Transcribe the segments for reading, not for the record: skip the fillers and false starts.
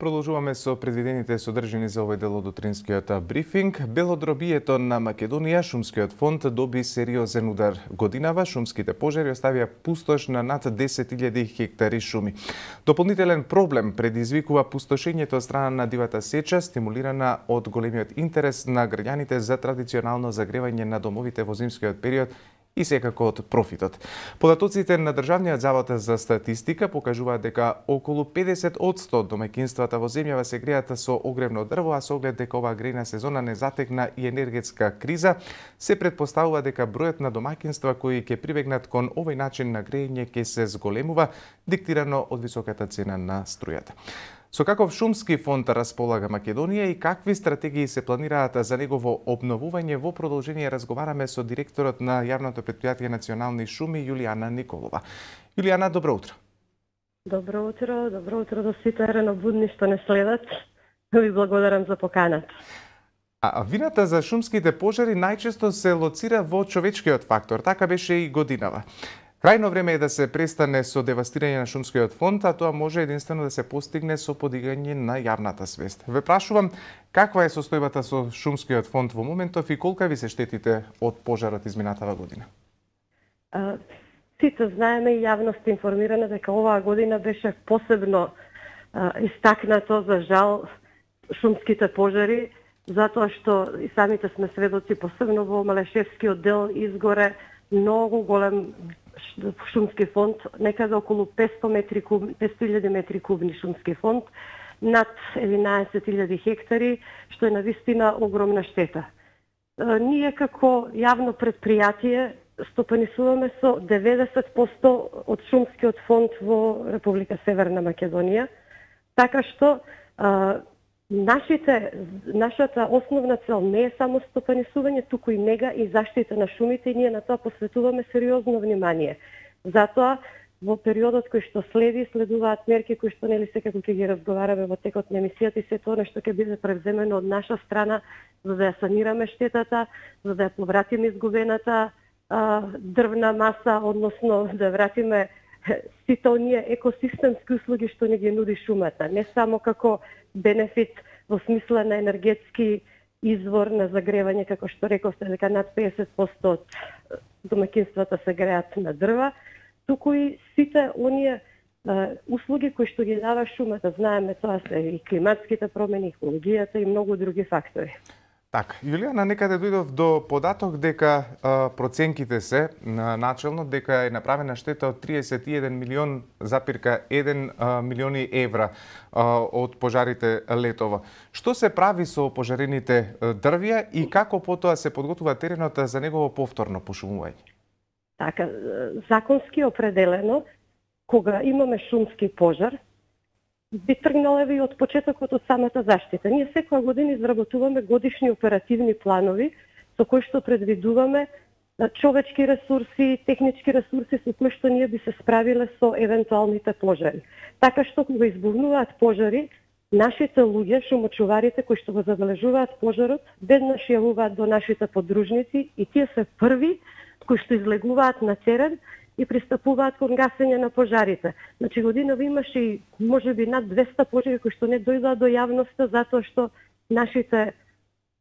Продолжуваме со предвидените содржини за овој дел од утринскиот брифинг. Белодробието на Македонија, шумскиот фонд доби сериозен удар. Годинава шумските пожари оставија пустош на над 10.000 хектари шуми. Дополнителен проблем предизвикува пустошењето од страна на дивата сеча, стимулирана од големиот интерес на граѓаните за традиционално загревање на домовите во зимскиот период и секако од профитот. Податоците на Државниот завод за статистика покажуваат дека околу 50% од домаќинствата во земјава се греат со огревно дрво, а со оглед дека оваа грејна сезона не затекна и енергетска криза, се претпоставува дека бројот на домаќинства кои ќе прибегнат кон овој начин на грејење ќе се зголемува, диктирано од високата цена на струјата. Со каков шумски фонд располага Македонија и какви стратегии се планираат за негово обновување, во продолжение разговараме со директорот на јавното претпријатие Национални шуми Јулијана Николова. Јулијана, добро утро. Добро утро до сите рано-будни што не следат. Ви благодарам за поканата. А вината за шумските пожари најчесто се лоцира во човечкиот фактор, така беше и годинава. Крајно време е да се престане со девастирање на шумскиот фонд, а тоа може единствено да се постигне со подигање на јавната свест. Ве прашувам, каква е состојбата со шумскиот фонд во моментов и колка ви се штетите од пожарот изминатава година? Сите знаеме и јавност информирана дека оваа година беше посебно истакнато, за жал, шумските пожари, затоа што и самите сме сведоци, посебно во Малешевскиот дел изгоре многу голем шумски фонд, некаде околу 500.000 метри кубни шумски фонд, над 11.000 хектари, што е навистина огромна штета. Ние како јавно предпријатие стопанисуваме со 90% од шумскиот фонд во Република Северна Македонија, така што нашата основна цел не е само стопанисување, туку и нега и заштита на шумите, и ние на тоа посветуваме сериозно внимание. Затоа, во периодот кој што следуваат мерки кои што нели секако ќе ги разговараме во текот на емисијата, и се тоа нешто ќе биде превземено од наша страна за да ја санираме штетата, за да ја повратиме изгубената дрвна маса, односно да вратиме сите оние екосистемски услуги што ни ги нуди шумата, не само како бенефит во смисла на енергетски извор на загревање, како што рековте дека над 50% од домаќинствата се греат на дрва, туку и сите оние услуги кои што ги дава шумата. Знаеме, тоа се и климатските промени, екологијата и многу други фактори. Така, Јулијана, некаде дојдов до податок дека проценките се начелно дека е направена штета од 31,1 милиони евра од пожарите летово. Што се прави со пожарените дрвја и како потоа се подготвува теренот за негово повторно пошумување? Така, законски определено, кога имаме шумски пожар, би тргнала и од почетокот од самата заштита. Ние секоја година изработуваме годишни оперативни планови со кои што предвидуваме човечки ресурси, технички ресурси со кои што ние би се справиле со евентуалните пожари. Така што кога избувнуваат пожари, нашите луѓе, шумочуварите кои што го забележуваат пожарот, веднаш јавуваат до нашите подружници и тие се први кои што излегуваат на терен и пристапуваат кон гасење на пожарите. Значи годинава имаше и можеби над 200 пожари кои што не дојдоа до јавноста затоа што нашите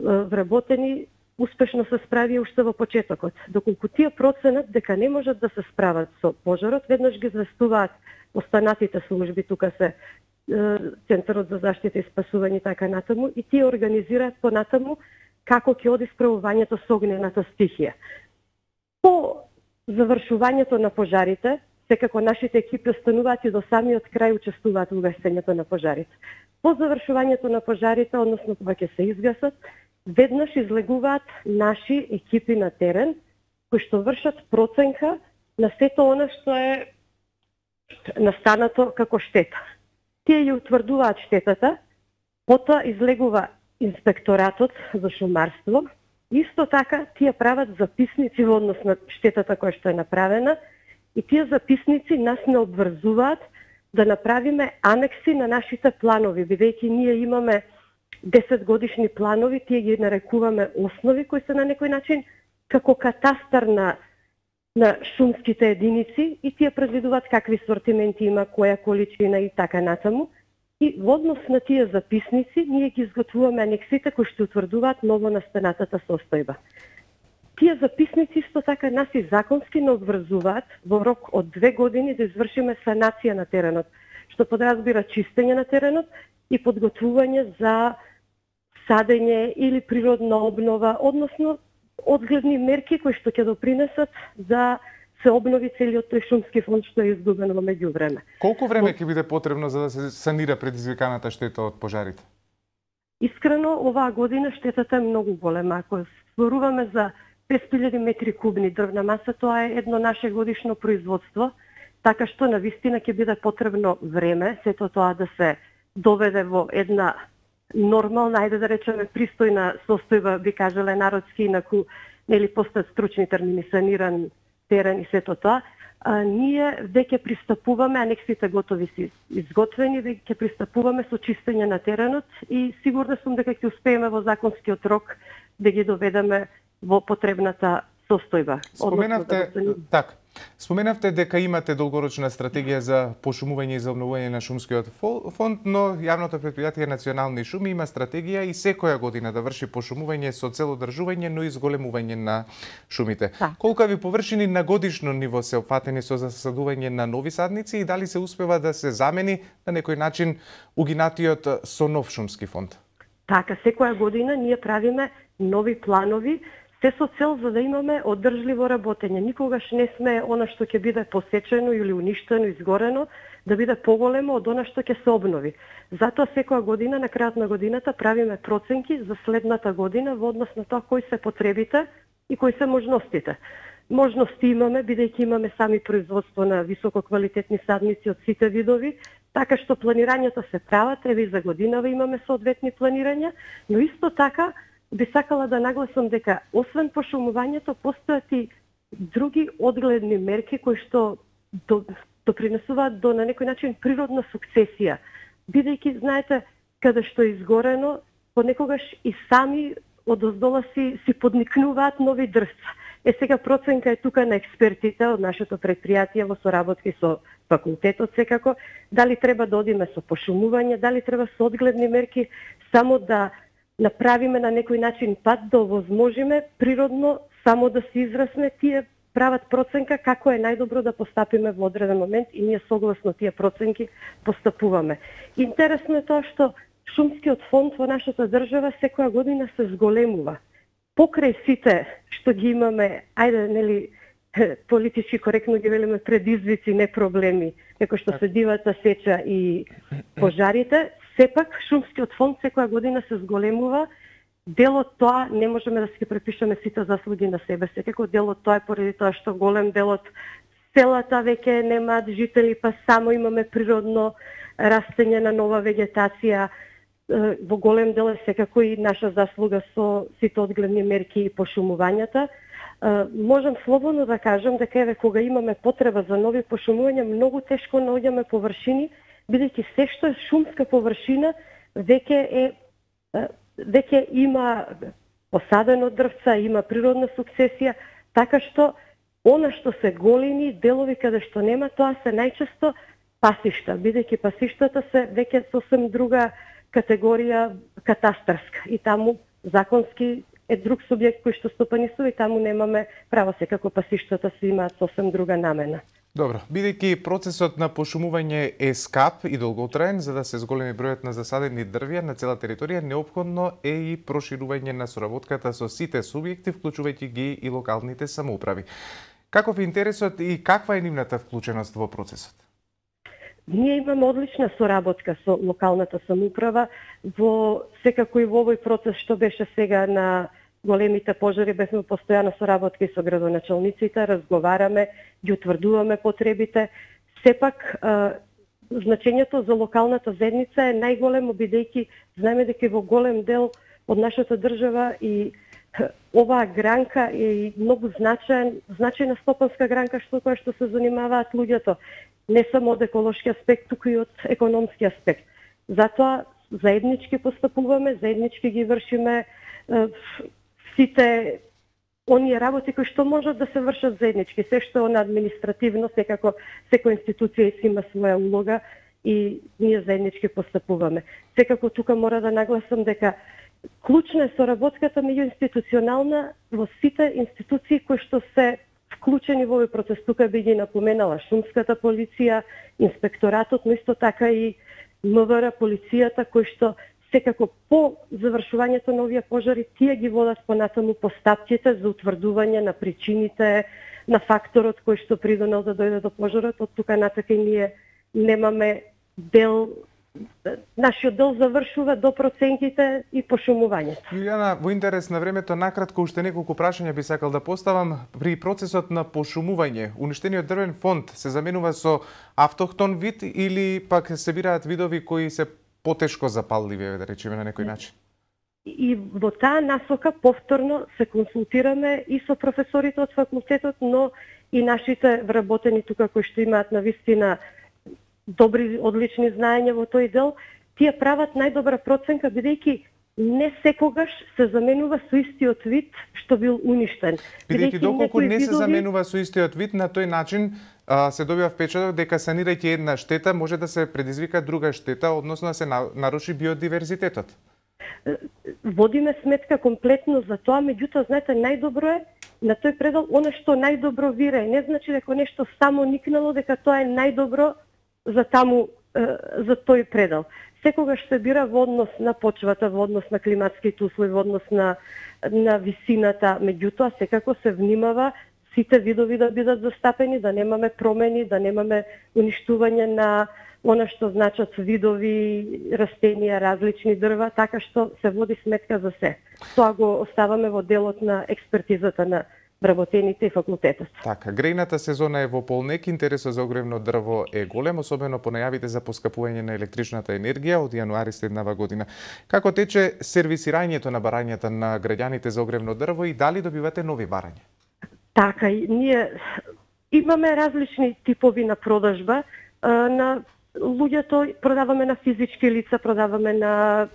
вработени успешно се справија уште во почетокот. Доколку тие проценат дека не можат да се справат со пожарот, веднаш ги известуваат останатите служби, тука се Центарот за заштита и спасување така натаму, и тие организираат понатаму како ќе оди справувањето со огнената стихија. По завршувањето на пожарите, секако нашите екипи остануваат и до самиот крај учествуваат во гасењето на пожарите. По завршувањето на пожарите, односно кога ќе се изгасат, веднаш излегуваат наши екипи на терен, кои што вршат проценка на сето она што е настанато како штета. Тие ја утврдуваат штетата, потоа излегува инспекторатот за шумарство. Исто така, тие прават записници во однос на штетата која што е направена, и тие записници нас не обврзуваат да направиме анекси на нашите планови, бидејќи ние имаме 10 годишни планови, тие ги нарекуваме основи, кои се на некој начин како катастар на шумските единици, и тие предвидуваат какви сортименти има, која количина и така натаму. И во однос на тие записници, ние ги изготвуваме анексите кои што утврдуваат ново настанатата состојба. Тие записници исто така нас и законски не обврзуваат во рок од 2 години да извршиме санација на теренот, што подразбира чистење на теренот и подготвување за садење или природна обнова, односно одгледни мерки кои што ќе допринесат да се обнови целиот тој шумски фонд што е изгубен во меѓувреме. Колку време ќе биде потребно за да се санира предизвиканата штета од пожарите? Искрено, оваа година штетата е многу голема. Ако зборуваме за 5.000 метри кубни дрвна маса, тоа е едно наше годишно производство, така што навистина ќе биде потребно време, сето тоа да се доведе во една нормална, ајде да речеме пристојна состојба, би кажале народски, инаку нели постат стручни термини, саниран терен и сето тоа. Ние веќе пристапуваме, анексите готови си изготвени, веќе пристапуваме со чистење на теренот и сигурна сум дека ќе успееме во законскиот рок да ги доведеме во потребната состојба. Споменавте дека имате долгорочна стратегија за пошумување и за обновување на шумскиот фонд, но јавното претпријатие Национални шуми има стратегија и секоја година да врши пошумување со цел одржување, но и зголемување на шумите. Колкави површини на годишно ниво се опфатени со засадување на нови садници и дали се успева да се замени на некој начин угинатиот со нов шумски фонд? Така, секоја година ние правиме нови планови, се со цел за да имаме одржливо работење. Никогаш не сме она што ќе биде посечено или уништено, изгорено, да биде поголемо од она што ќе се обнови. Затоа секоја година, на крајот на годината, правиме проценки за следната година во однос на тоа кои се потребите и кои се можностите. Можности имаме, бидејќи имаме сами производство на висококвалитетни садници од сите видови, така што планирањето се прават, еве и за годинава имаме соодветни планирања, но исто така би сакала да нагласам дека освен пошумувањето постојат и други одгледни мерки кои што допринесуваат до на некој начин природна сукцесија. Бидејќи знаете каде што е изгорено, понекогаш и сами одоздола си подникнуваат нови дрвца. Сега проценка е тука на експертите од нашето предпријатие во соработки со факултетот секако, дали треба да одиме со пошумување, дали треба со одгледни мерки, само да направиме на некој начин пат да овозможиме природно само да се израсне. Тие прават проценка како е најдобро да постапиме во одреден момент и ние согласно тие проценки постапуваме. Интересно е тоа што шумскиот фонд во нашата држава секоја година се зголемува. Покрај сите што ги имаме, ајде нели политички коректно ги велиме предизвици, не проблеми, како што се дивата сеча и пожарите, сепак шумскиот фонд секоја година се зголемува. Дел од тоа не можеме да си препишеме сите заслуги на себе. Секако дел од тоа е поради тоа што голем дел од селата веќе немаат жители, па само имаме природно растење на нова вегетација. Во голем дел е секако и наша заслуга со сите одгледни мерки и пошумувањата. Можам слободно да кажам дека еве кога имаме потреба за нови пошумувања, многу тешко наоѓаме површини, бидејќи се што е шумска површина веќе има посадено дрвца, има природна сукцесија, така што она што се големи делови каде што нема, тоа се најчесто пасишта, бидејќи пасиштата се веќе сосем друга категорија катастарска и таму законски е друг субјект кој што стопанисува и таму немаме право, секако пасиштата си имаат сосем друга намена. Добро, бидејќи процесот на пошумување е скап и долготраен, за да се зголеми бројот на засадени дрвја на цела територија, неопходно е и проширување на соработката со сите субјекти, вклучувајќи ги и локалните самоуправи. Каков е интересот и каква е нивната вклученост во процесот? Ние имаме одлична соработка со локалната самоуправа, секако и во овој процес што беше сега на големите пожари, бевме постојано соработки со градоначалниците, разговараме, ги утврдуваме потребите. Сепак, значењето за локалната заедница е најголемо, бидејќи знаеме дека во голем дел од нашата држава и оваа гранка е многу значајна стопанска гранка која што се занимаваат луѓето, не само од еколошки аспект, туку и од економски аспект. Затоа заеднички постапуваме, заеднички ги вршиме сите оние работи кои што можат да се вршат заеднички. Се што е на административно, секако секоја институција си има своја улога и ние заеднички постапуваме. Секако тука мора да нагласам дека клучна е соработката меѓуинституционална во сите институции кои што се вклучени во овој процес. Тука би ги напоменала шумската полиција, инспекторатот, но исто така и МВР, полицијата, кои што секако по завршувањето на овие пожари тие ги водат понатаму постапките за утврдување на причините, на факторот кој што придонел да дојде до пожарот. Од тука натака ние немаме дел. Нашиот дел завршува до проценките и пошумувањето. Јулијана, во интерес на времето, накратко уште неколку прашања би сакал да поставам. При процесот на пошумување, уништениот дрвен фонд се заменува со автохтон вид или пак се бираат видови кои се потешко запалливи, да речеме на некој начин? И во таа насока повторно се консултираме и со професорите од факултетот, но и нашите вработени тука кои што имаат навистина добри, одлични знаења во тој дел, тие прават најдобра проценка, бидејќи не секогаш се заменува со истиот вид што бил уништен. Бидејќи доколку не се заменува со истиот вид, на тој начин се добива впечаток дека санирајќи една штета може да се предизвика друга штета, односно да се наруши биодиверзитетот. Водиме сметка комплетно за тоа, меѓутоа, знаете, најдобро е на тој предел она што најдобро вирае. Не значи дека нешто само никнало, дека тоа е најдобро за таму, за тој предел. Секогаш се бира во однос на почвата, во однос на климатските услови, во однос на висината, меѓутоа секако се внимава сите видови да бидат застапени, да немаме промени, да немаме уништување на она што значат видови, растенија, различни дрва, така што се води сметка за се. Тоа го оставаме во делот на експертизата на вработените и факултетот. Така, грејната сезона е во полнек, интересот за огревно дрво е голем, особено по најавите за поскапување на електричната енергија од јануари следнава година. Како тече сервисирањето на барањата на граѓаните за огревно дрво и дали добивате нови барања? Така, ние имаме различни типови на продажба. На луѓето продаваме на физички лица, продаваме на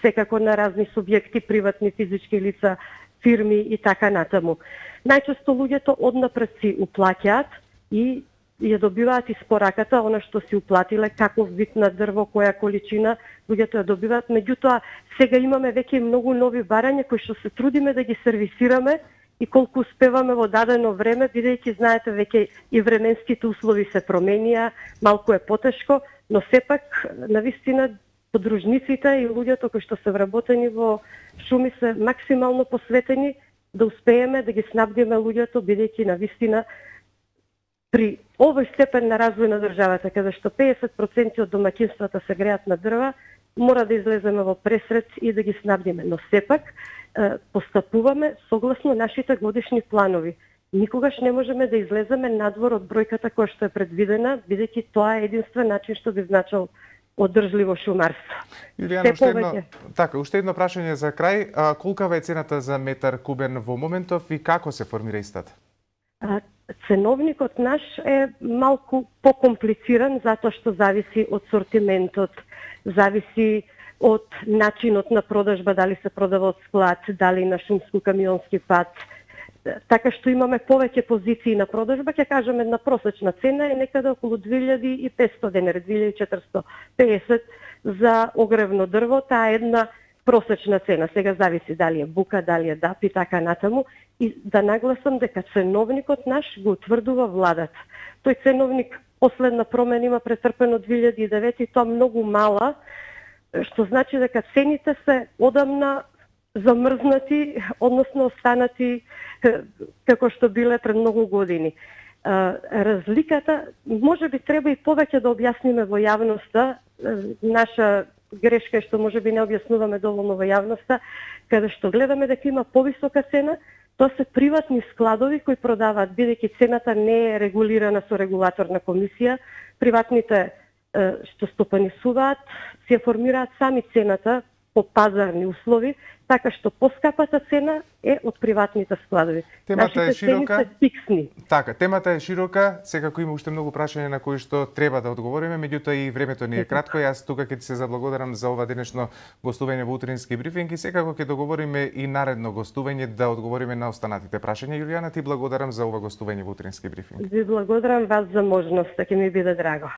секако на разни субјекти, приватни физички лица, фирми и така натаму. Најчесто луѓето однапред си уплаќаат и ја добиваат испораката, она што си уплатиле, каков вид на дрво, која количина, луѓето ја добиваат. Меѓутоа, сега имаме веќе многу нови барања кои што се трудиме да ги сервисираме и колку успеваме во дадено време, бидејќи знаете веќе и временските услови се променија, малку е потешко, но сепак навистина подружниците и луѓето кои што се вработени во шуми се максимално посветени да успееме да ги снабдиме луѓето, бидејќи навистина при овој степен на развој на државата, каде што 50% од домаќинствата се греат на дрва, мора да излеземе во пресред и да ги снабдиме. Но сепак постапуваме согласно нашите годишни планови. Никогаш не можеме да излеземе надвор од бројката која што е предвидена, бидејќи тоа е единствен начин што би значил одржливо шумарство. Јулијана, уште едно прашање за крај. Колкава е цената за метар кубен во моментов и како се формира истата? Ценовникот наш е малку покомплициран затоа што зависи од сортиментот, зависи од начинот на продажба, дали се продава од склад, дали на шумско-камионски пат. Така што имаме повеќе позиции на продажба, ќе кажеме една просечна цена е некаде околу 2500 денари, 2450 за огревно дрво, таа е една просечна цена. Сега зависи дали е бука, дали е ДАП и така натаму. И да нагласам дека ценовникот наш го утврдува владата. Тој ценовник последна промена има претрпено 2009 и тоа многу мала, што значи дека цените се одамна замрзнати, односно останати како што биле пред многу години. Разликата, може би треба и повеќе да објасниме во јавноста, наша грешка е што може би не објаснуваме доволно во јавноста, каде што гледаме дека има повисока цена, тоа се приватни складови кои продаваат, бидејќи цената не е регулирана со регулаторна комисија, приватните што стопанисуваат, се формираат сами цената по пазарни услови, така што поскапата цена е од приватните складови. Темата е широка. Фиксни. Така, темата е широка, секако има уште многу прашања на кои што треба да одговориме, меѓутоа и времето ни е кратко. Јас тука ќе ти се заблагодарам за ова денешно гостување во утрински брифинг и секако ќе договориме и наредно гостување да одговориме на останатите прашања. Јулијана, ти благодарам за ова гостување во утрински брифинг. Ви благодарам вас за можноста, ќе ми биде драго.